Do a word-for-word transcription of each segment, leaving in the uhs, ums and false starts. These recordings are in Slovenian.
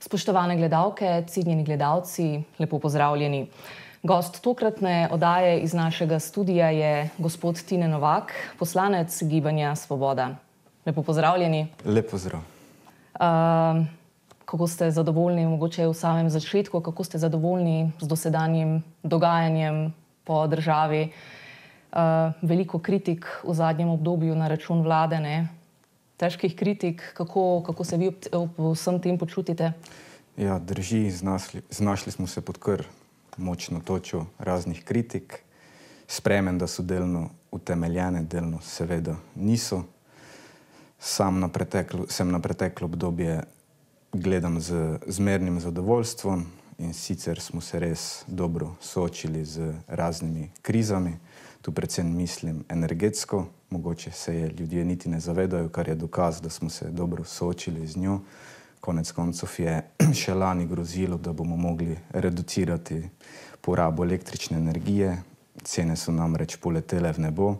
Spoštovane gledalke, cenjeni gledalci, lepo pozdravljeni. Gost tokratne oddaje iz našega studia je gospod Tine Novak, poslanec Gibanja Svoboda. Lepo pozdravljeni. Lep pozdrav. Uh, kako ste zadovoljni, mogoče v samem začetku, kako ste zadovoljni z dosedanjim dogajanjem po državi? Uh, veliko kritik v zadnjem obdobju na račun vlade, ne? Težkih kritik, kako, kako se vi ob vsem tem počutite? Ja, drži, znašli, znašli smo se pod kar močno točo raznih kritik. Sprejmem, da so delno utemeljene, delno seveda niso. Sam na preteklo, sem na preteklo obdobje gledam z zmernim zadovoljstvom in sicer smo se res dobro soočili z raznimi krizami. Tu predvsem mislim energetsko, mogoče se je ljudje niti ne zavedajo, kar je dokaz, da smo se dobro soočili z njo. Konec koncev je še lani grozilo, da bomo mogli reducirati porabo električne energije. Cene so namreč poletele v nebo.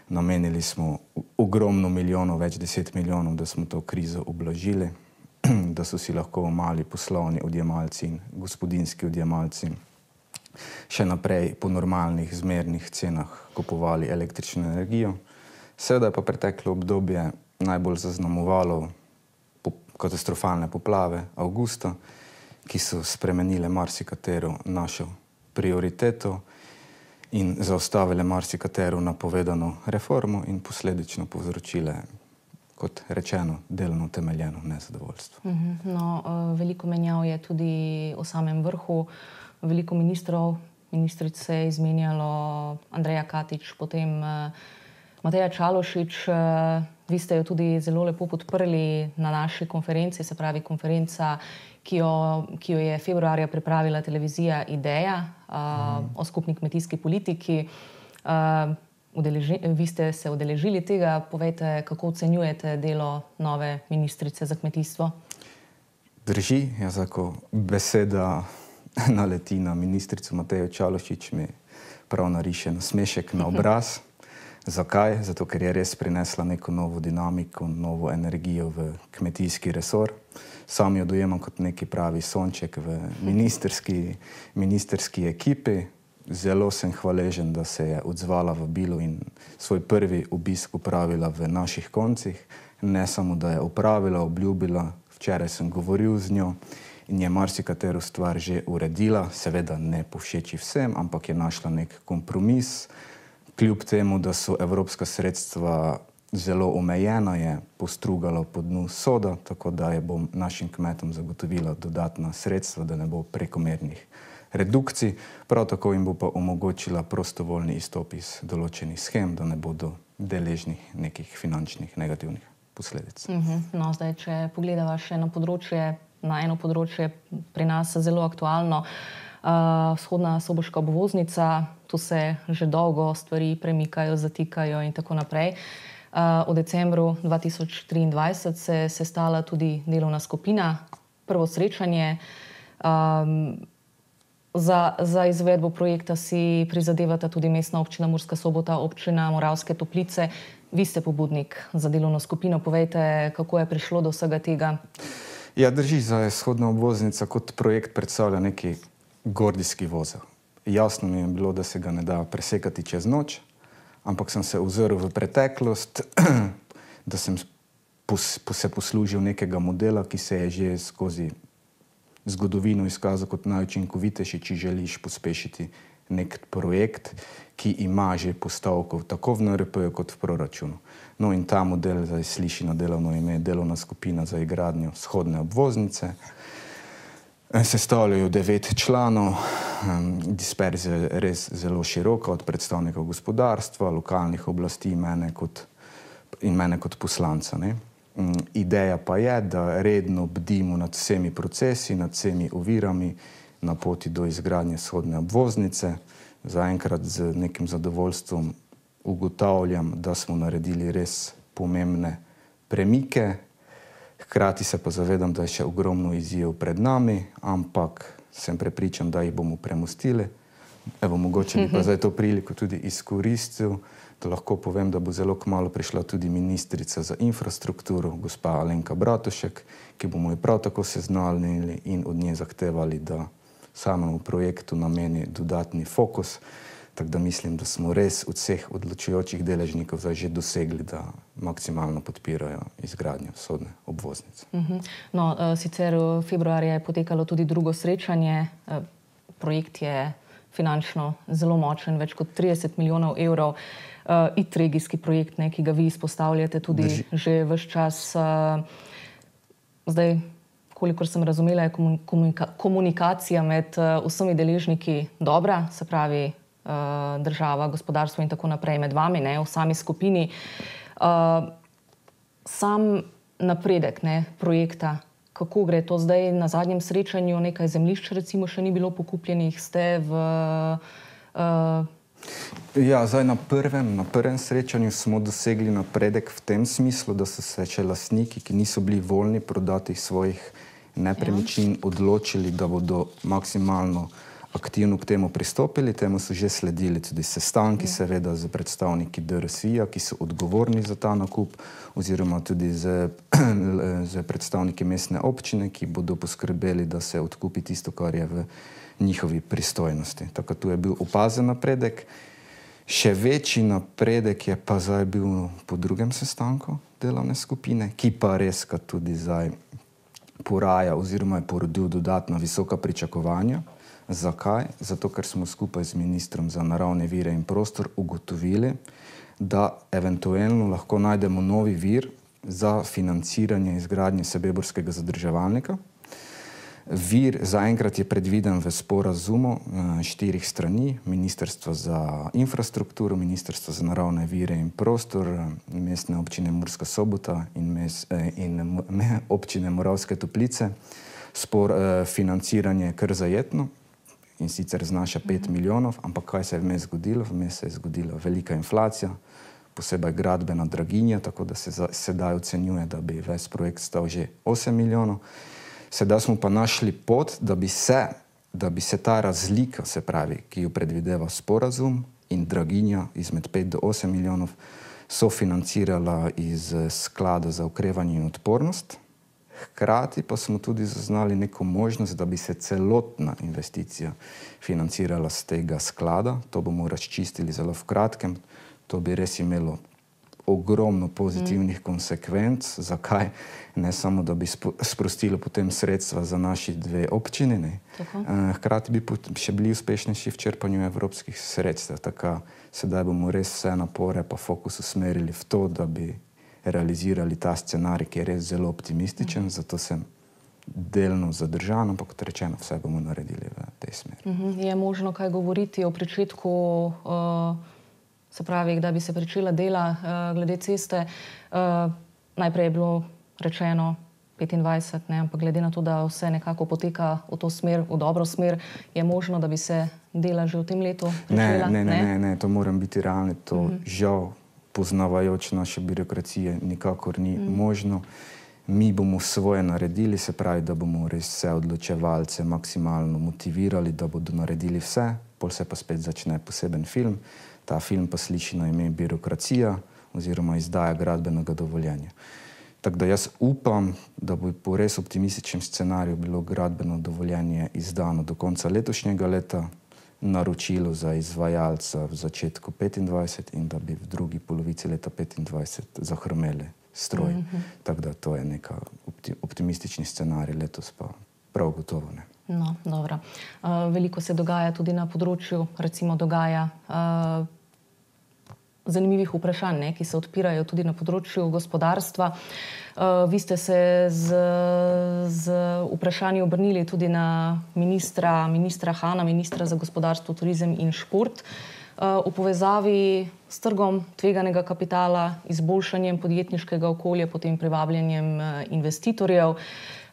Namenili smo ogromno milijonov, več deset milijonov, da smo to krizo ublažili, da so si lahko mali poslovni odjemalci in gospodinjski odjemalci še naprej po normalnih, zmernih cenah kupovali električno energijo. Seveda je pa preteklo obdobje najbolj zaznamovalo katastrofalne poplave avgusta, ki so spremenile marsikatero našo prioriteto in zaustavile marsikatero napovedano reformo in posledično povzročile, kot rečeno, delno utemeljeno nezadovoljstvo. No, veliko menjav je tudi v samem vrhu. Veliko ministrov, ministric se je izmenjalo, Andreja Katič, potem Mateja Čalušić. Vi ste jo tudi zelo lepo podprli na naši konferenci, se pravi konferenca, ki jo, ki jo je februarja pripravila televizija Ideja mm. o skupni kmetijski politiki. Udeleži, vi ste se udeležili tega. Povejte, kako ocenjujete delo nove ministrice za kmetijstvo? Drži, jaz ako beseda naleti na ministrico Matejo Čalušić, mi prav nariše nasmešek na obraz. Zakaj? Zato, ker je res prinesla neko novo dinamiko, novo energijo v kmetijski resor. Sam jo dojemam kot neki pravi sonček v ministerski, ministerski ekipi. Zelo sem hvaležen, da se je odzvala vabilu in svoj prvi obisk opravila v naših koncih. Ne samo, da je opravila, obljubila, včeraj sem govoril z njo in je marsikatero stvar že uredila, seveda ne povšeči vsem, ampak je našla nek kompromis. Kljub temu, da so evropska sredstva zelo omejena, je postrugala po dnu soda, tako da je bom našim kmetom zagotovila dodatna sredstva, da ne bo prekomernih redukcij. Prav tako jim bo pa omogočila prostovoljni izstop iz določenih shem, da ne bodo deležni nekih finančnih negativnih posledic. Uh-huh. No, zdaj, če pogledava še na področje, na eno področje pri nas zelo aktualno, Uh, vzhodna soboška obvoznica, tu se že dolgo stvari premikajo, zatikajo in tako naprej. Uh, v decembru dva tisoč triindvajset se je sestala tudi delovna skupina, prvo srečanje. Um, za, za izvedbo projekta si prizadevata tudi Mestna občina Murska Sobota, občina Moravske Toplice. Vi ste pobudnik za delovno skupino. Povejte, kako je prišlo do vsega tega? Ja, drži, za vzhodna obvoznica kot projekt predstavlja neki gordijski vozel. Jasno mi je bilo, da se ga ne da presekati čez noč, ampak sem se ozrl v preteklost, da sem pos, se poslužil nekega modela, ki se je že skozi zgodovino izkazal kot najučinkovitejši, če želiš pospešiti nek projekt, ki ima že postavko tako v N R P-ju kot v proračunu. No in ta model zdaj sliši na delovno ime delovna skupina za izgradnjo vzhodne obvoznice. Sestavljajo devet članov, disperzija je res zelo široka, od predstavnikov gospodarstva, lokalnih oblasti mene kot, in mene kot poslanca. Ne? Ideja pa je, da redno bdimo nad vsemi procesi, nad vsemi ovirami na poti do izgradnje vzhodne obvoznice. Zaenkrat z nekim zadovoljstvom ugotavljam, da smo naredili res pomembne premike. Hkrati se pa zavedam, da je še ogromno izziv pred nami, ampak sem prepričan, da jih bomo premostili. Evo, mogoče bi pa zdaj to priliko tudi izkoristil, da lahko povem, da bo zelo kmalu prišla tudi ministrica za infrastrukturo, gospa Alenka Bratušek, ki bomo jo prav tako seznanili in od nje zahtevali, da samemu projektu nameni dodatni fokus. Tako da mislim, da smo res od vseh odločujočih deležnikov zdaj že dosegli, da maksimalno podpirajo izgradnjo vzhodne obvoznice. No, sicer februarja je potekalo tudi drugo srečanje. Projekt je finančno zelo močen, več kot trideset milijonov evrov. I T regijski projekt, ne, ki ga vi izpostavljate tudi Drži. že ves čas. Zdaj, kolikor sem razumela, je komunika komunikacija med vsemi deležniki dobra, se pravi država, gospodarstvo in tako naprej med vami, ne, v sami skupini. Sam napredek, ne, projekta, kako gre to zdaj na zadnjem srečanju, nekaj zemljišč recimo še ni bilo pokupljenih, ste v... Uh... Ja, zdaj na prvem, na prvem srečanju smo dosegli napredek v tem smislu, da so se še lastniki, ki niso bili voljni prodati svojih nepremičnin, odločili, da bodo maksimalno aktivno k temu pristopili. Temu so že sledili tudi sestanki, seveda z predstavniki D R S I-ja, ki so odgovorni za ta nakup, oziroma tudi z, z predstavniki mestne občine, ki bodo poskrbeli, da se odkupi tisto, kar je v njihovi pristojnosti. Tako tu je bil opazen napredek. Še večji napredek je pa zdaj bil po drugem sestanku delovne skupine, ki pa res tudi zdaj poraja oziroma je porodil dodatna visoka pričakovanja. Zakaj? Zato, ker smo skupaj z ministrom za naravne vire in prostor ugotovili, da eventualno lahko najdemo novi vir za financiranje izgradnje sebeborskega zadrževalnika. Vir zaenkrat je predviden v sporazumu štirih strani, Ministrstva za infrastrukturo, Ministrstva za naravne vire in prostor, Mestne občine Murska Sobota in, mes, in občine Moravske Toplice. Spor, financiranje je kar zajetno in sicer znaša pet milijonov, ampak kaj se je vmes zgodilo? Vmes se je zgodila velika inflacija, posebej gradbena draginja, tako da se za, sedaj ocenjuje, da bi ves projekt stal že osem milijonov. Sedaj smo pa našli pot, da bi se, da bi se ta razlika, se pravi, ki jo predvideva sporazum in draginja izmed pet do osem milijonov, sofinancirala iz sklada za okrevanje in odpornost. Hkrati pa smo tudi zaznali neko možnost, da bi se celotna investicija financirala z tega sklada. To bomo razčistili zelo v kratkem. To bi res imelo ogromno pozitivnih mm. konsekvenc. Zakaj? Ne samo, da bi sprostilo potem sredstva za naši dve občini, ne. Hkrati bi še bili uspešnejši v črpanju evropskih sredstev. Tako sedaj bomo res vse napore pa fokus usmerili v to, da bi realizirali ta scenarij, ki je res zelo optimističen, mm. zato sem delno zadržan, ampak kot rečeno, vse bomo naredili v tej smeri. Mm-hmm. Je možno kaj govoriti o pričetku, uh, se pravi, da bi se pričela dela uh, glede ceste? Uh, najprej je bilo rečeno petindvajset, ne, ampak glede na to, da vse nekako poteka v to smer, v dobro smer, je možno, da bi se dela že v tem letu pričela? Ne, ne, ne, ne, ne, to moram biti realni, to mm-hmm. žal poznavajoč naše birokracije nikakor ni mm. možno. Mi bomo svoje naredili, se pravi, da bomo res vse odločevalce maksimalno motivirali, da bodo naredili vse, pol se pa spet začne poseben film. Ta film pa sliši na ime Birokracija oziroma izdaja gradbenega dovoljenja. Tako da jaz upam, da bo po res optimističnem scenariju bilo gradbeno dovoljenje izdano do konca letošnjega leta, naročilo za izvajalca v začetku petindvajset in da bi v drugi polovici leta petindvajset zahrmeli stroj. Mm-hmm. Tako da to je neka opti optimistični scenarij, letos pa prav gotovo ne. No, dobro. Uh, veliko se dogaja tudi na področju, recimo dogaja uh, zanimivih vprašanj, ne, ki se odpirajo tudi na področju gospodarstva. Uh, vi ste se z, z vprašanji obrnili tudi na ministra, ministra Hana, ministra za gospodarstvo, turizem in šport, uh, v povezavi s trgom tveganega kapitala, izboljšanjem podjetniškega okolja, potem privabljanjem uh, investitorjev.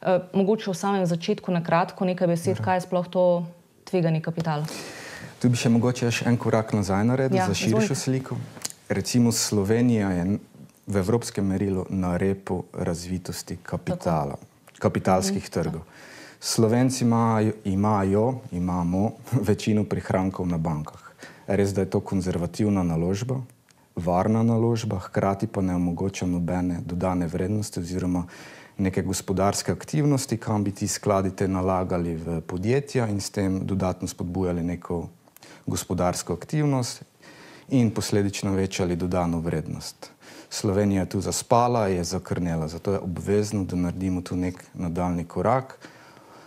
Uh, mogoče v samem začetku na kratko nekaj besed, Aha. kaj je sploh to tvegani kapital? Tu bi še mogoče še en korak nazaj naredil, ja, za širšo sliko. Recimo Slovenija je v evropskem merilu na repu razvitosti kapitala, kapitalskih trgov. Slovenci imajo, imajo, imamo večino prihrankov na bankah. Res, da je to konzervativna naložba, varna naložba, hkrati pa ne omogoča nobene dodane vrednosti oziroma neke gospodarske aktivnosti, kam bi ti skladi te nalagali v podjetja in s tem dodatno spodbujali neko gospodarsko aktivnost in posledično večali dodano vrednost. Slovenija je tu zaspala, je zakrnela, zato je obvezno, da naredimo tu nek nadaljni korak,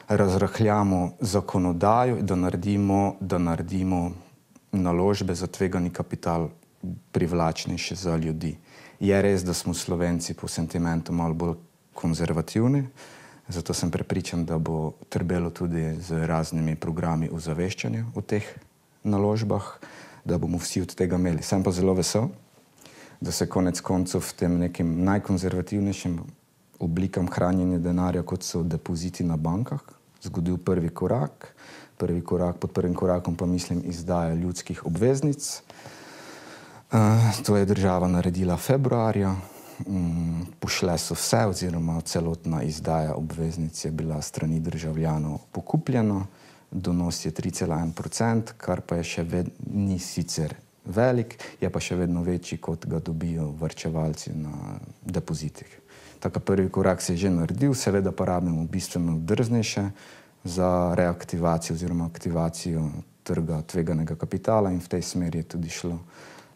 razrahljamo zakonodajo, da naredimo, da naredimo naložbe za tvegani kapital privlačnejše za ljudi. Je res, da smo Slovenci po sentimentu malo bolj konzervativni, zato sem prepričan, da bo trbelo tudi z raznimi programi ozaveščanja o teh naložbah, da bomo vsi od tega imeli. Sem pa zelo vesel, da se konec koncev v tem nekim najkonzervativnejšim oblikam hranjenja denarja, kot so depoziti na bankah, zgodil prvi korak. Prvi korak, pod prvim korakom pa mislim izdaja ljudskih obveznic. Uh, to je država naredila februarja. Um, pošle so vse oziroma celotna izdaja obveznic je bila strani državljanov pokupljena. Donos je tri cela en procent, kar pa je še vedno ni sicer velik, je pa še vedno večji, kot ga dobijo varčevalci na depozitih. Tako prvi korak se je že naredil, seveda pa rabimo bistveno drznejše za reaktivacijo oziroma aktivacijo trga tveganega kapitala in v tej smeri je tudi šlo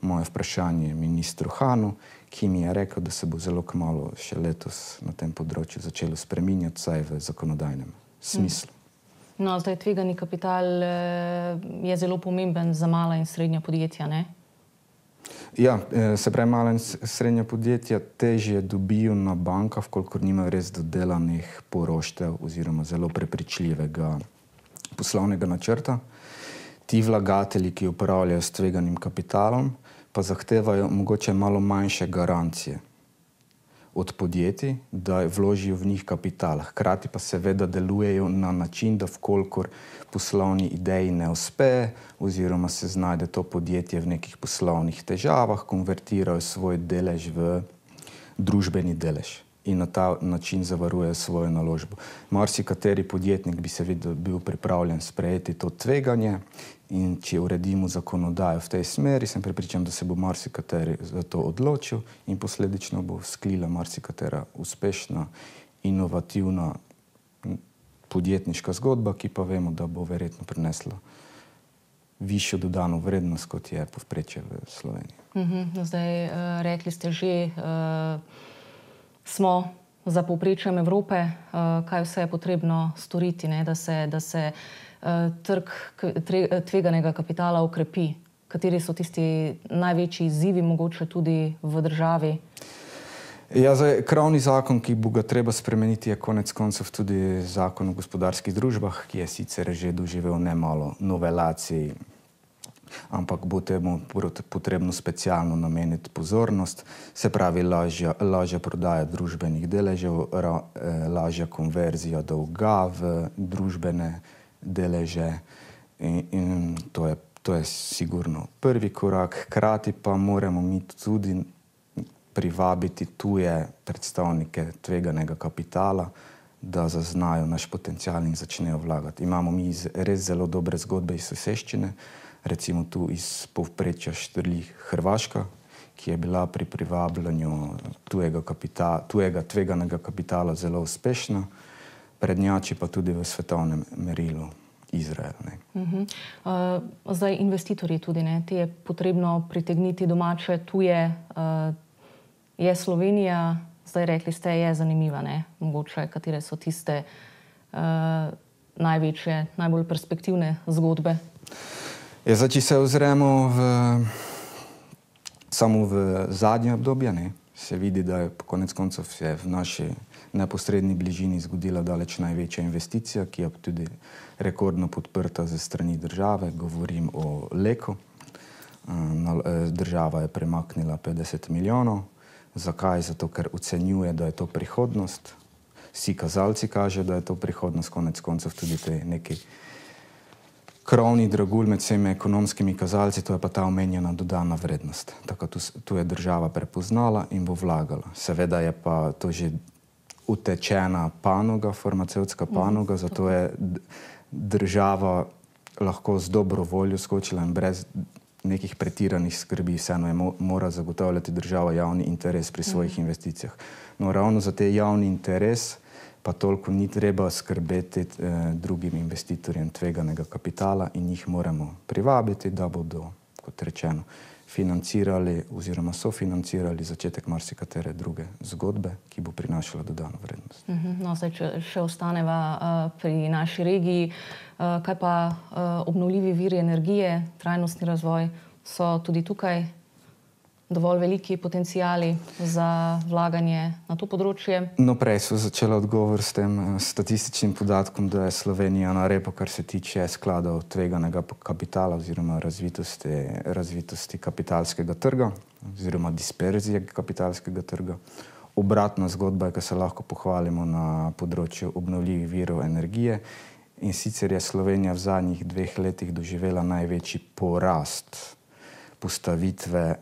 moje vprašanje ministru Hanu, ki mi je rekel, da se bo zelo kmalu še letos na tem področju začelo spreminjati, vsaj v zakonodajnem smislu. No, zdaj tvegani kapital je zelo pomemben za mala in srednja podjetja, ne? Ja, se pravi, mala in srednja podjetja težje dobijo na bankah, kolikor nimajo res dodelanih poroštev oziroma zelo prepričljivega poslovnega načrta. Ti vlagatelji, ki upravljajo s tveganim kapitalom, pa zahtevajo mogoče malo manjše garancije od podjetij, da vložijo v njih kapital. Hkrati pa seveda delujejo na način, da vkolikor poslovni ideji ne uspe oziroma se znajde to podjetje v nekih poslovnih težavah, konvertirajo svoj delež v družbeni delež in na ta način zavarujejo svojo naložbo. Marsikateri podjetnik bi seveda bil pripravljen sprejeti to tveganje in če uredimo zakonodajo v tej smeri, sem prepričan, da se bo marsikateri za to odločil in posledično bo sklila marsikatera uspešna, inovativna podjetniška zgodba, ki pa vemo, da bo verjetno prinesla višjo dodano vrednost, kot je povprečje v Sloveniji. Uh-huh. Zdaj, uh, rekli ste že, uh, smo za povprečjem Evrope, uh, kaj vse je potrebno storiti, ne, da se, da se uh, trg tveganega kapitala ukrepi. Kateri so tisti največji izzivi mogoče tudi v državi? Ja, zdaj, krovni zakon, ki bo ga treba spremeniti, je konec koncev tudi zakon o gospodarskih družbah, ki je sicer že doživel nemalo novelacij, ampak bo temu potrebno specialno nameniti pozornost, se pravi lažja, lažja prodaja družbenih deležev, ra, eh, lažja konverzija dolga v družbene deleže in, in to je, to je sigurno prvi korak. Hkrati pa moramo mi tudi privabiti tuje predstavnike tveganega kapitala, da zaznajo naš potencial in začnejo vlagati. Imamo mi res zelo dobre zgodbe iz soseščine, recimo tu iz povprečja štrli Hrvaška, ki je bila pri privabljanju tujega, kapitala, tujega tveganega kapitala zelo uspešna, prednjači pa tudi v svetovnem merilu Izrael. Ne. Uh-huh. uh, zdaj investitorji tudi, ne, ti je potrebno pritegniti domače, tuje. Uh, je Slovenija, zdaj rekli ste, je zanimiva, ne, mogoče, katere so tiste uh, največje, najbolj perspektivne zgodbe? Ja, zdaj, če se ozremo v, samo v zadnje obdobje, ne, se vidi, da je konec koncev je v naši neposredni bližini zgodila daleč največja investicija, ki je tudi rekordno podprta ze strani države. Govorim o Leku. Država je premaknila petdeset milijonov. Zakaj? Zato, ker ocenjuje, da je to prihodnost. Vsi kazalci kažejo, da je to prihodnost, konec koncev tudi te neki krovni dragulj med vsemi ekonomskimi kazalci, to je pa ta omenjena dodana vrednost. Tako tu, tu je država prepoznala in bo vlagala. Seveda je pa to že utečena panoga, farmacevtska panoga, mm, zato je država lahko z dobro voljo skočila in brez nekih pretiranih skrbi, vseeno je mora zagotavljati država javni interes pri svojih mm. investicijah. No, ravno za te javni interes pa toliko ni treba skrbeti eh, drugim investitorjem tveganega kapitala in jih moramo privabiti, da bodo, kot rečeno, financirali oziroma sofinancirali začetek marsikatere druge zgodbe, ki bo prinašala dodano vrednost. No, zdaj, če še ostaneva uh, pri naši regiji, uh, kaj pa uh, obnovljivi viri energije, trajnostni razvoj, so tudi tukaj dovolj veliki potencijali za vlaganje na to področje? No, prej so začela odgovor s tem statističnim podatkom, da je Slovenija na repu, kar se tiče skladov tveganega kapitala oziroma razvitosti, razvitosti kapitalskega trga oziroma disperzije kapitalskega trga. Obratna zgodba je, ko se lahko pohvalimo na področju obnovljivih virov energije, in sicer je Slovenija v zadnjih dveh letih doživela največji porast postavitve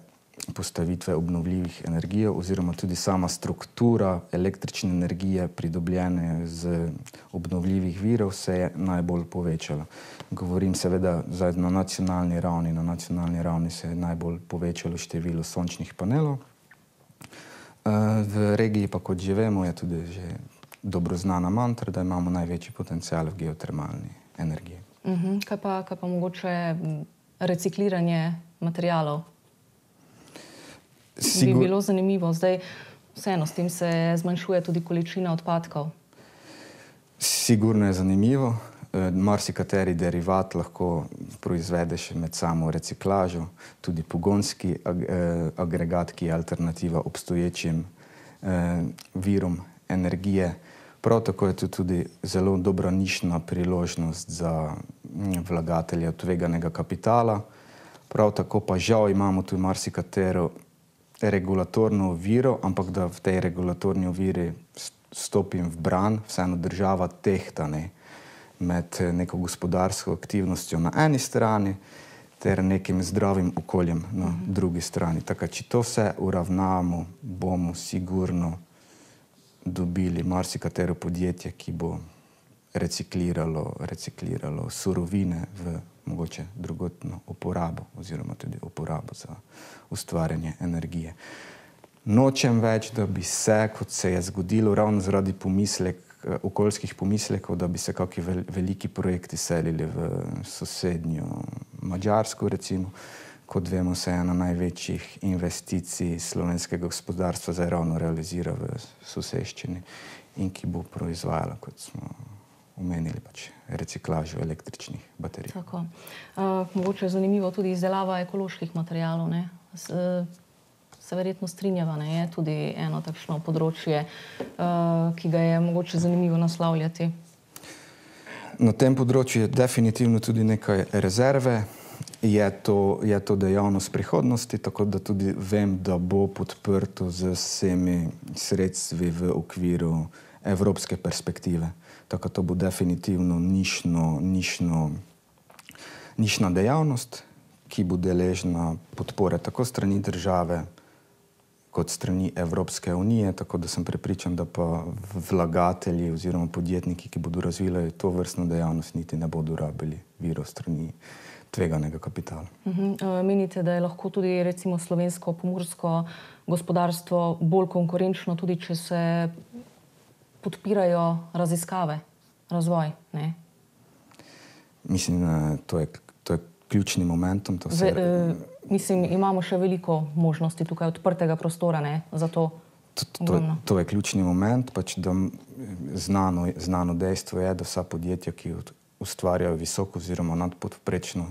postavitve obnovljivih energij oziroma tudi sama struktura električne energije pridobljene z obnovljivih virov se je najbolj povečala. Govorim seveda zdaj na nacionalni ravni. Na nacionalni ravni se je najbolj povečalo število sončnih panelov. V regiji pa, kot že vemo, je tudi že dobro znana mantra, da imamo največji potencial v geotermalni energiji. Uh-huh. Kaj pa, kaj pa mogoče recikliranje materialov? Sigur... Bi bilo zanimivo. Zdaj, vseeno, s tem se zmanjšuje tudi količina odpadkov. Sigurno je zanimivo. E, marsikateri derivat lahko proizvedeš med samo reciklažo. Tudi pogonski ag e, agregat, ki je alternativa obstoječim e, virom energije. Prav tako je to tudi zelo dobra nišna priložnost za vlagatelje tveganega kapitala. Prav tako pa žal imamo tu marsikatero regulatorno oviro, ampak da v tej regulatorni oviri stopim v bran, vseeno država tehta ne, med neko gospodarsko aktivnostjo na eni strani ter nekim zdravim okoljem na uh-huh. drugi strani. Tako, če to vse uravnamo, bomo sigurno dobili marsikatero podjetje, ki bo recikliralo, recikliralo surovine v mogoče drugotno uporabo oziroma tudi uporabo za ustvarjanje energije. Nočem več, da bi se, kot se je zgodilo, ravno zaradi pomislek, okoljskih pomislekov, da bi se kakšni veliki projekti selili v sosednjo Madžarsko, recimo. Kot vemo, se ena največjih investicij slovenskega gospodarstva zdaj ravno realizira v soseščini in ki bo proizvajala, kot smo omenili, pač reciklažo električnih baterij. Tako. Uh, mogoče je zanimivo tudi izdelava ekoloških materialov, ne? S, uh, se verjetno strinjava, ne? Je tudi eno takšno področje, uh, ki ga je mogoče zanimivo naslavljati. Na tem področju je definitivno tudi nekaj rezerve. Je to, je to dejavnost prihodnosti, tako da tudi vem, da bo podprto z vsemi sredstvi v okviru evropske perspektive. Tako to bo definitivno nišno, nišno, nišna dejavnost, ki bo deležna podpore tako strani države kot strani Evropske unije, tako da sem prepričan, da pa vlagatelji oziroma podjetniki, ki bodo razvijali to vrstno dejavnost, niti ne bodo rabili virov strani tveganega kapitala. Uh-huh. Menite, da je lahko tudi recimo slovensko pomursko gospodarstvo bolj konkurenčno, tudi če se podpirajo raziskave, razvoj, ne? Mislim, to je, to je ključni momentum. To se... Ve, e, mislim, imamo še veliko možnosti tukaj, odprtega prostora, ne, za to. To, to, to je ključni moment, pač da znano, znano dejstvo je, da vsa podjetja, ki ustvarjajo visoko oziroma nadpovprečno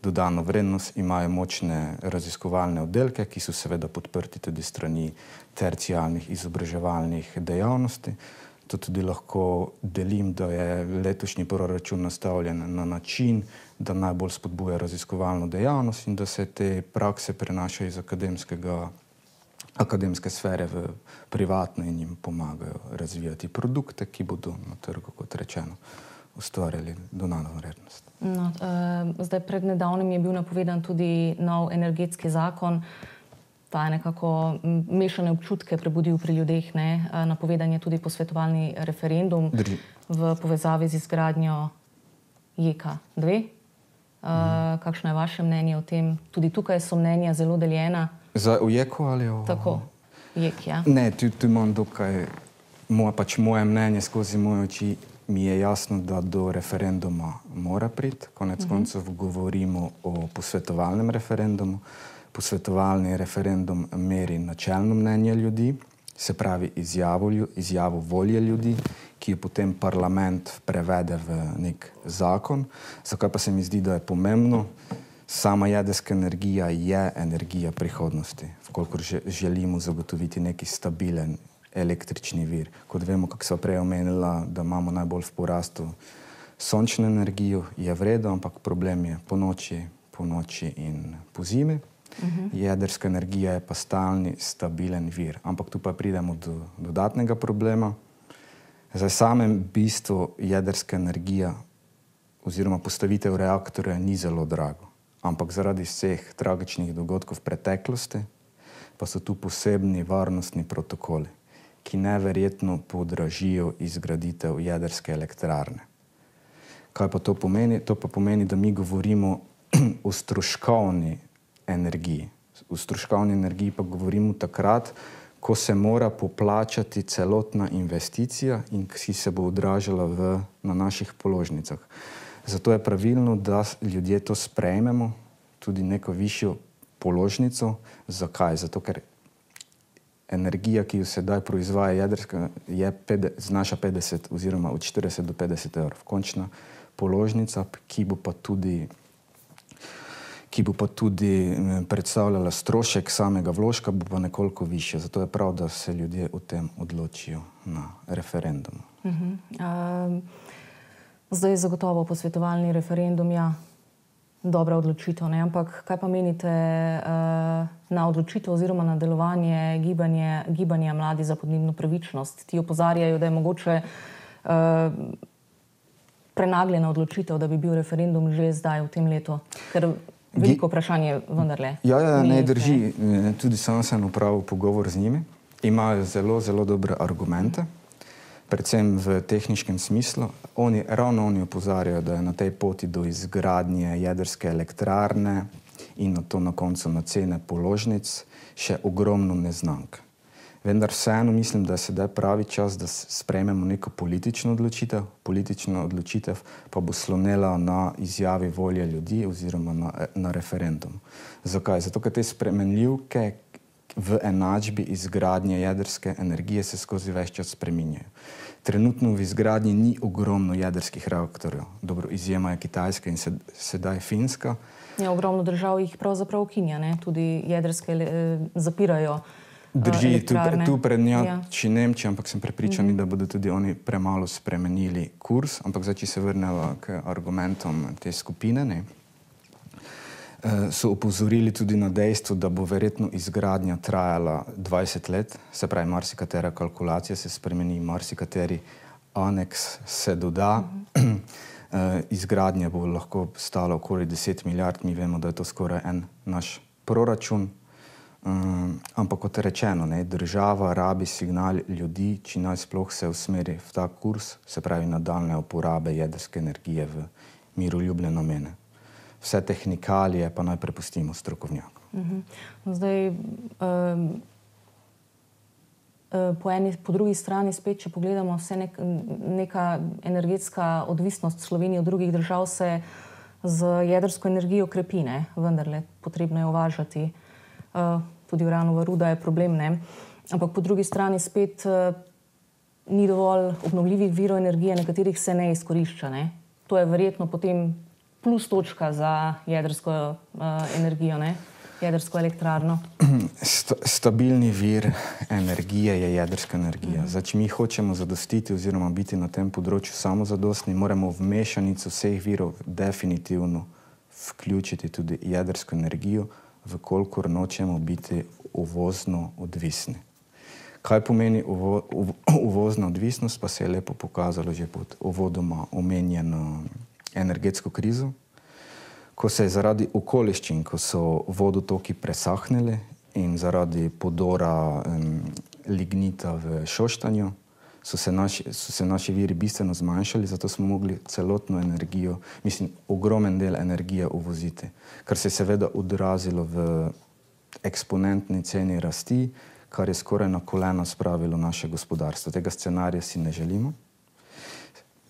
dodano vrednost, imajo močne raziskovalne oddelke, ki so seveda podprti tudi strani terciarnih izobraževalnih dejavnosti. To tudi lahko delim, da je letošnji proračun nastavljen na način, da najbolj spodbuja raziskovalno dejavnost in da se te prakse prenašajo iz akademskega, akademske sfere v privatno in jim pomagajo razvijati produkte, ki bodo na trgu, kot rečeno, ustvarjali dodano vrednost. No, uh, zdaj pred nedavnim je bil napovedan tudi nov energetski zakon. ta je nekako mešane občutke prebudil pri ljudeh. Ne? Napovedan je tudi posvetovalni referendum Drži. v povezavi z izgradnjo J E K dve. Uh, mhm. Kakšno je vaše mnenje o tem? Tudi tukaj so mnenja zelo deljena. Za o J E K-u ali o... Tako, J E K, ja. Ne, tu, tu imam dokaj, moje, pač moje mnenje skozi moje oči, mi je jasno, da do referenduma mora priti. Konec uh-huh. koncev govorimo o posvetovalnem referendumu. Posvetovalni referendum meri načelno mnenje ljudi, se pravi izjavo, izjavo volje ljudi, ki jo potem parlament prevede v nek zakon. Zakaj pa se mi zdi, da je pomembno? Sama jedrska energija je energija prihodnosti, vkolikor želimo zagotoviti neki stabilen električni vir. Kot vemo, kako sva prej omenila, da imamo najbolj v porastu sončno energijo, je v redu, ampak problem je po noči, po noči in po zimi. Uh-huh. Jedrska energija je pa stalni, stabilen vir. Ampak tu pa pridemo do dodatnega problema. Za samem bistvu jedrska energija oziroma postavitev reaktorja ni zelo drago. Ampak zaradi vseh tragičnih dogodkov v preteklosti pa so tu posebni varnostni protokoli, ki neverjetno podražijo izgraditev jedrske elektrarne. Kaj pa to pomeni? To pa pomeni, da mi govorimo o stroškovni energiji. V stroškovni energiji pa govorimo takrat, ko se mora poplačati celotna investicija in ki se bo odražala v, na naših položnicah. Zato je pravilno, da ljudje to sprejmemo, tudi neko višjo položnico. Zakaj? Zato, ker energija, ki jo sedaj proizvaja jedrska, je pet, znaša petdeset oziroma od štirideset do petdeset evrov. Končna položnica, ki bo pa tudi ki bo pa tudi predstavljala strošek samega vložka, bo pa nekoliko višja. Zato je prav, da se ljudje o tem odločijo na referendumu. Uh-huh. Uh, zdaj je zagotovo posvetovalni referendum, ja, dobra odločitev, ne? Ampak kaj pa menite uh, na odločitev oziroma na delovanje gibanje, gibanja Mladi za podnebno pravičnost? Ti opozarjajo, da je mogoče uh, prenagljena odločitev, da bi bil referendum že zdaj v tem letu. Ker veliko vprašanje vendarle. Ja, ja, ne drži. Ne. Tudi sam sem opravil pogovor z njimi. Imajo zelo, zelo dobre argumente, predvsem v tehničkem smislu. Oni, ravno oni opozarjajo, da je na tej poti do izgradnje jedrske elektrarne in na to na koncu na cene položnic še ogromno neznank. Vendar vseeno mislim, da je sedaj pravi čas, da sprejmemo neko politično odločitev. Politična odločitev pa bo slonela na izjavi volje ljudi oziroma na, na referendum. Zakaj? Zato, ker te spremenljivke v enačbi izgradnje jedrske energije se skozi ves čas spreminjajo. Trenutno v izgradnji ni ogromno jedrskih reaktorjev. Dobro, izjema je Kitajska in sedaj Finska. Ja, ogromno držav jih pravzaprav ukinja, ne? Tudi jedrske eh, zapirajo. Drži, tu, tu prednjači ja. Nemčija, ampak sem prepričan, mm-hmm. da bodo tudi oni premalo spremenili kurs. Ampak zdaj, če se vrneva k argumentom te skupine, ne, so opozorili tudi na dejstvo, da bo verjetno izgradnja trajala dvajset let. Se pravi, marsikatera kalkulacija se spremeni, marsikateri aneks se doda. Mm-hmm. Izgradnja bo lahko stala okoli deset milijard. Mi vemo, da je to skoraj en naš proračun. Um, ampak kot rečeno, ne, država rabi signal ljudi, če naj sploh se usmeri v ta kurs, se pravi nadaljne uporabe jedrske energije v miroljubne namene. Vse tehnikalije pa naj prepustimo strokovnjakom. Uh-huh. Zdaj, um, po, eni, po drugi strani spet, če pogledamo, vse nek, neka energetska odvisnost Slovenije od drugih držav se z jedrsko energijo krepi, ne? Vendarle potrebno je uvažati. Uh, tudi uranova ruda je problem, ne? Ampak po drugi strani spet uh, ni dovolj obnovljivih virov energije, na katerih se ne izkorišča, ne? To je verjetno potem plus točka za jedrsko uh, energijo, ne? Jedrsko elektrarno. Sta, stabilni vir energije je jedrska energija. Mm. Zdaj, če mi hočemo zadostiti oziroma biti na tem področju samozadostni, moramo v mešanico vseh virov definitivno vključiti tudi jedrsko energijo, vkolikor nočemo biti uvozno odvisni. Kaj pomeni uvo, uv, uvozna odvisnost, pa se je lepo pokazalo že pod uvodoma omenjeno energetsko krizo, ko se je zaradi okoliščin, ko so vodotoki presahnili in zaradi podora um, lignita v Šoštanju so se, naši, so se naši viri bistveno zmanjšali, zato smo mogli celotno energijo, mislim, ogromen del energije uvoziti, kar se je seveda odrazilo v eksponentni ceni rasti, kar je skoraj na kolena spravilo naše gospodarstvo. Tega scenarija si ne želimo.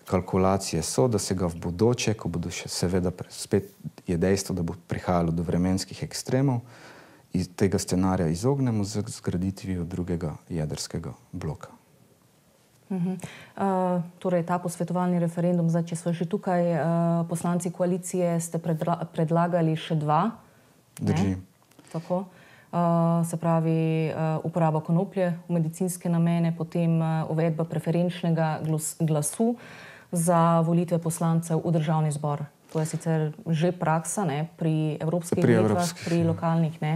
Kalkulacije so, da se ga v bodoče, ko bodo še seveda spet je dejstvo, da bo prihajalo do vremenskih ekstremov, iz tega scenarija izognemo z zgraditvijo drugega jedrskega bloka. Uh-huh. Uh, torej, ta posvetovalni referendum, zdaj, če so že tukaj uh, poslanci koalicije, ste predla predlagali še dva. Drži. Tako. Uh, se pravi, uh, uporaba konoplje v medicinske namene, potem uh, uvedba preferenčnega glas glasu za volitve poslancev v državni zbor. To je sicer že praksa, ne, pri evropskih pri volitvah, evropskih, pri lokalnih, ne.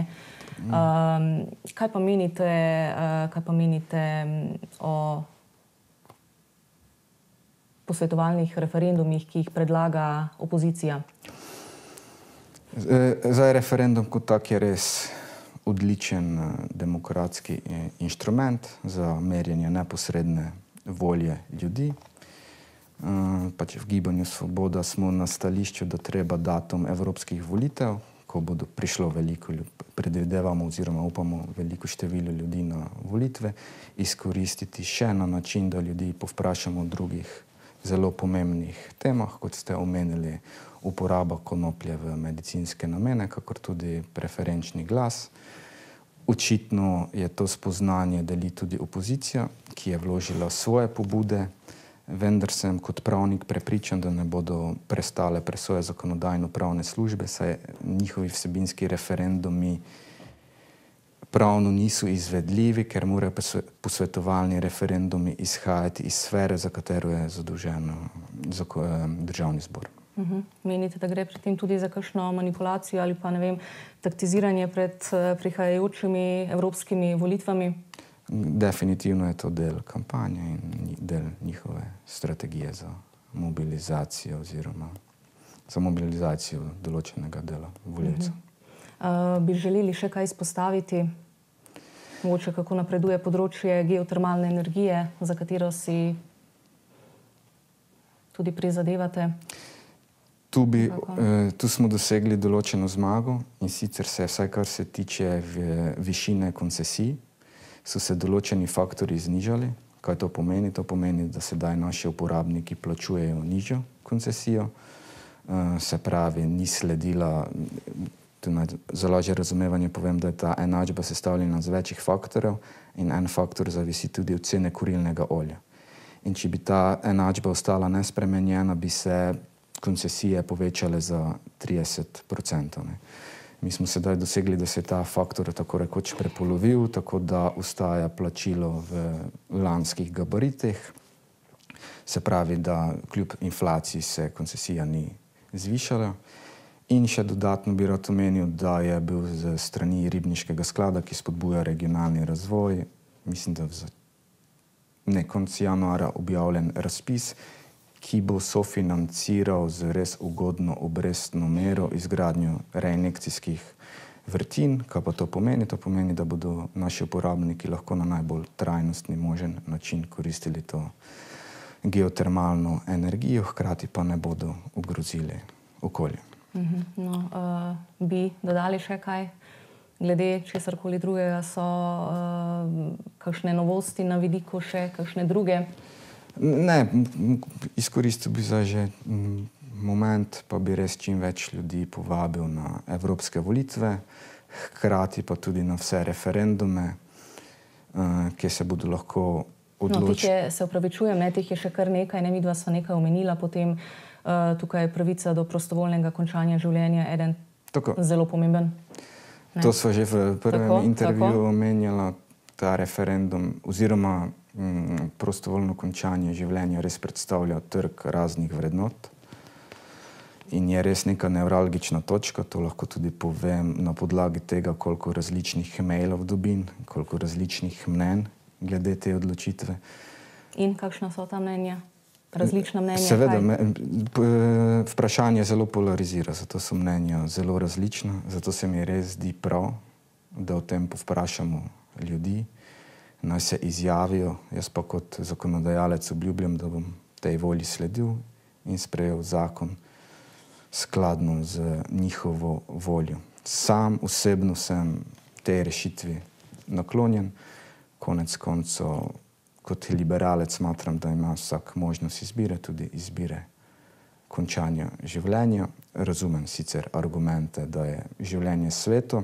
Um, kaj pa menite, uh, kaj pa menite o posvetovalnih referendumih, ki jih predlaga opozicija? Zdaj, referendum kot tak je res odličen demokratski inštrument za merjenje neposredne volje ljudi. Pač v Gibanju Svoboda smo na stališču, da treba datum evropskih volitev, ko bodo prišlo veliko, predvidevamo oziroma upamo veliko število ljudi na volitve, izkoristiti še na način, da ljudi povprašamo o drugih zelo pomembnih temah, kot ste omenili, uporaba konoplje v medicinske namene, kakor tudi preferenčni glas. Očitno je to spoznanje deli tudi opozicija, ki je vložila svoje pobude, vendar sem kot pravnik prepričan, da ne bodo prestale presoje zakonodajno-pravne službe, saj njihovi vsebinski referendumi pravno niso izvedljivi, ker morajo posvetovalni referendumi izhajati iz sfere, za katero je zadolžen državni zbor. Uh-huh. Menite, da gre pri tem tudi za kakšno manipulacijo ali pa, ne vem, taktiziranje pred prihajajočimi evropskimi volitvami? Definitivno je to del kampanje in del njihove strategije za mobilizacijo oziroma za mobilizacijo določenega dela volivcev. Uh-huh. Uh, bi želeli še kaj izpostaviti? Mogoče kako napreduje področje geotermalne energije, za katero si tudi prizadevate? Tu, bi, eh, tu smo dosegli določeno zmago in sicer se, vsaj kar se tiče višine koncesij, so se določeni faktori znižali. Kaj to pomeni? To pomeni, da sedaj naši uporabniki plačujejo nižjo koncesijo, eh, se pravi, ni sledila, za lažje razumevanje povem, da je ta enačba sestavljena z večjih faktorjev in en faktor zavisi tudi od cene kurilnega olja. In če bi ta enačba ostala nespremenjena, bi se koncesije povečale za trideset procentov. Mi smo sedaj dosegli, da se je ta faktor tako rekoč prepolovil, tako da ostaja plačilo v lanskih gabaritih. Se pravi, da kljub inflaciji se koncesija ni zvišala. In še dodatno bi rad omenil, da je bil z strani Ribniškega sklada, ki spodbuja regionalni razvoj, mislim, da v konec januarja objavljen razpis, ki bo sofinanciral z res ugodno obrestno mero izgradnjo reinjekcijskih vrtin. Kaj pa to pomeni? To pomeni, da bodo naši uporabniki lahko na najbolj trajnostni možen način koristili to geotermalno energijo, hkrati pa ne bodo ogrozili okolje. Uh-huh. No, uh, bi dodali še kaj? Glede česarkoli drugega so uh, kakšne novosti na vidiku še, kakšne druge? Ne, izkoristil bi zdaj že moment, pa bi res čim več ljudi povabil na evropske volitve, hkrati pa tudi na vse referendume, uh, ki se bodo lahko odločili. No, tih je, se opravičujem, ne, tih je še kar nekaj, ne, midva sva nekaj omenila, potem uh, tukaj je pravica do prostovoljnega končanja življenja, eden tako zelo pomemben. Ne? To sva že v prvem tako, intervjuju tako. omenjala, ta referendum oziroma mm, prostovoljno končanje življenja res predstavlja trg raznih vrednot in je res neka nevralgična točka, to lahko tudi povem na podlagi tega, koliko različnih mailov dobim, koliko različnih mnenj glede te odločitve. In kakšna so ta mnenja? Različna mnenja? Seveda, me, vprašanje zelo polarizira, zato so mnenja zelo različna, zato se mi res zdi prav, da o tem povprašamo ljudi, naj se izjavijo. Jaz pa kot zakonodajalec obljubljam, da bom tej volji sledil in sprejel zakon skladno z njihovo voljo. Sam osebno sem tej rešitvi naklonjen. Konec koncev, kot liberalec smatram, da ima vsak možnost izbire, tudi izbire končanja življenja. Razumem sicer argumente, da je življenje sveto,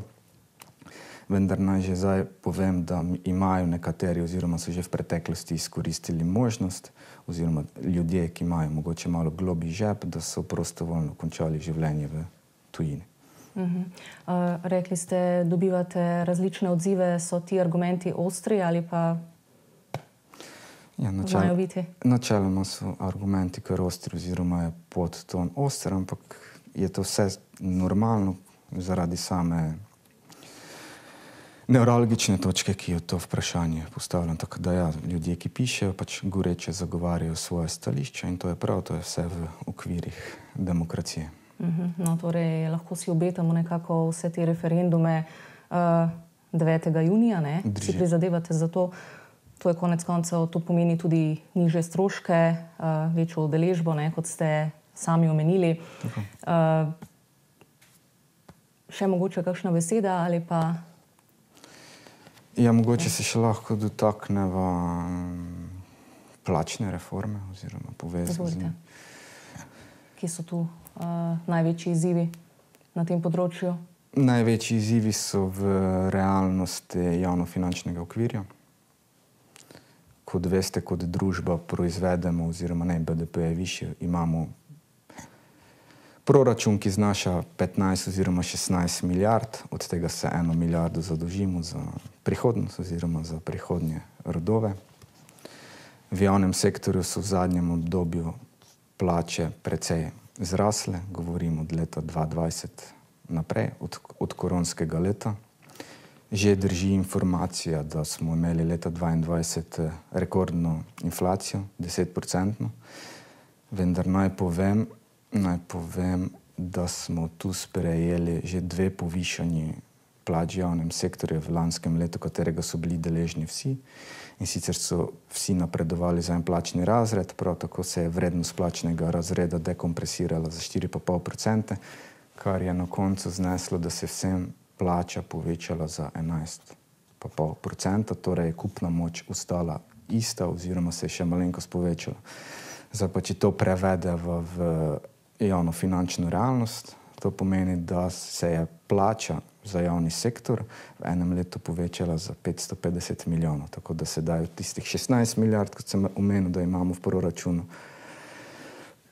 vendar naj že zdaj povem, da imajo nekateri oziroma so že v preteklosti izkoristili možnost oziroma ljudje, ki imajo mogoče malo globlji žep, da so prostovoljno končali življenje v tujini. Uh-huh. Uh, rekli ste, dobivate različne odzive, so ti argumenti ostri ali pa ja, načel, znajo biti? Načeloma so argumenti kar ostri oziroma je podton oster, ampak je to vse normalno zaradi same nevralgične točke, ki jo to vprašanje postavljam. Tako da ja, ljudje, ki pišejo, pač goreče zagovarjajo svoje stališče in to je prav, to je vse v okvirih demokracije. Uh-huh. No, torej, lahko si obetamo nekako vse te referendume uh, devetega junija, ne? Si prizadevate za to. To je konec koncev, to pomeni tudi nižje stroške, uh, večjo udeležbo, ne, kot ste sami omenili. Uh, še mogoče kakšna beseda ali pa... Ja, mogoče se še lahko dotakneva plačne reforme oziroma povezane. Kje so tu uh, največji izzivi na tem področju? Največji izzivi so v realnosti javnofinančnega okvirja. Kot veste, kot družba proizvedemo oziroma ne, B D P je višji, imamo proračun, ki znaša petnajst oziroma šestnajst milijard, od tega se eno milijardo zadolžimo za prihodnost oziroma za prihodnje rodove. V javnem sektorju so v zadnjem obdobju plače precej zrasle, govorim od leta dva tisoč dvajset naprej, od, od koronskega leta. Že drži informacija, da smo imeli leta dvaindvajset rekordno inflacijo, desetprocentno, vendar naj povem, naj povem, da smo tu sprejeli že dve povišanji plač v javnem sektorju v lanskem letu, katerega so bili deležni vsi. In sicer so vsi napredovali za en plačni razred, prav tako se je vrednost plačnega razreda dekompresirala za štiri pa pol procenta, kar je na koncu zneslo, da se vsem plača povečala za enajst pa pol procenta, torej je kupna moč ostala ista oziroma se je še malenkost povečala. Zdaj pa, če to prevede v, v javnofinančno realnost, to pomeni, da se je plača za javni sektor v enem letu povečala za petsto petdeset milijonov, tako da se dajo tistih šestnajst milijard, kot sem omenil, da imamo v proračunu,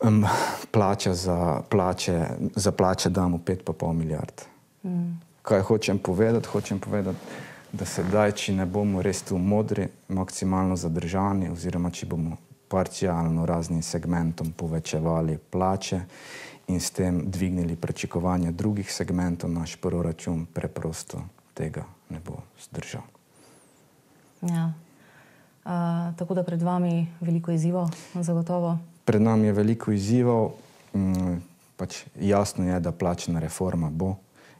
um, plača za plače, za plače damo pet pa pol milijard. Mm. Kaj hočem povedati? Hočem povedati, da sedaj, če ne bomo res tu modri, maksimalno zadržani oziroma če bomo parcialno raznim segmentom povečevali plače in s tem dvignili pričakovanja drugih segmentov, naš proračun preprosto tega ne bo zdržal. Ja. Uh, tako da pred vami veliko izzivov, zagotovo? Pred nami je veliko izzivov. Um, pač jasno je, da plačna reforma bo.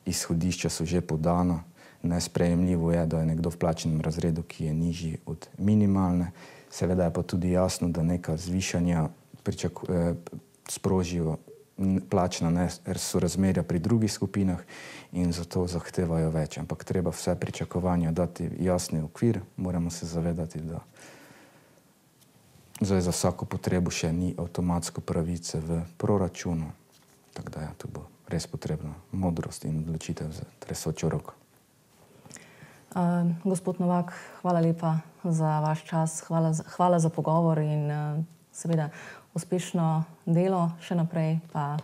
Izhodišča so že podana. Nesprejemljivo je, da je nekdo v plačnem razredu, ki je nižji od minimalne. Seveda je pa tudi jasno, da neka zvišanja eh, sprožijo plačna nesorazmerja pri drugih skupinah in zato zahtevajo več. Ampak treba vse pričakovanja dati jasni okvir. Moramo se zavedati, da zdaj za vsako potrebo še ni avtomatsko pravice v proračunu. Tako da ja, to bo res potrebna modrost in odločitev za tresočo roko. Uh, gospod Novak, hvala lepa za vaš čas, hvala za, hvala za pogovor in uh, seveda uspešno delo še naprej, pa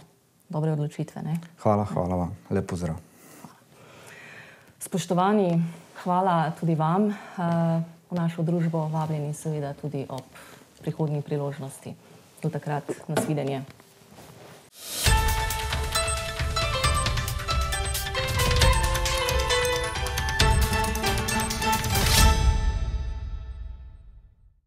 dobre odločitve. Ne? Hvala, hvala vam. Lep pozdrav. Spoštovani, hvala tudi vam. Uh, v našo družbo vabljeni seveda tudi ob prihodnji priložnosti. Do takrat, nasvidenje.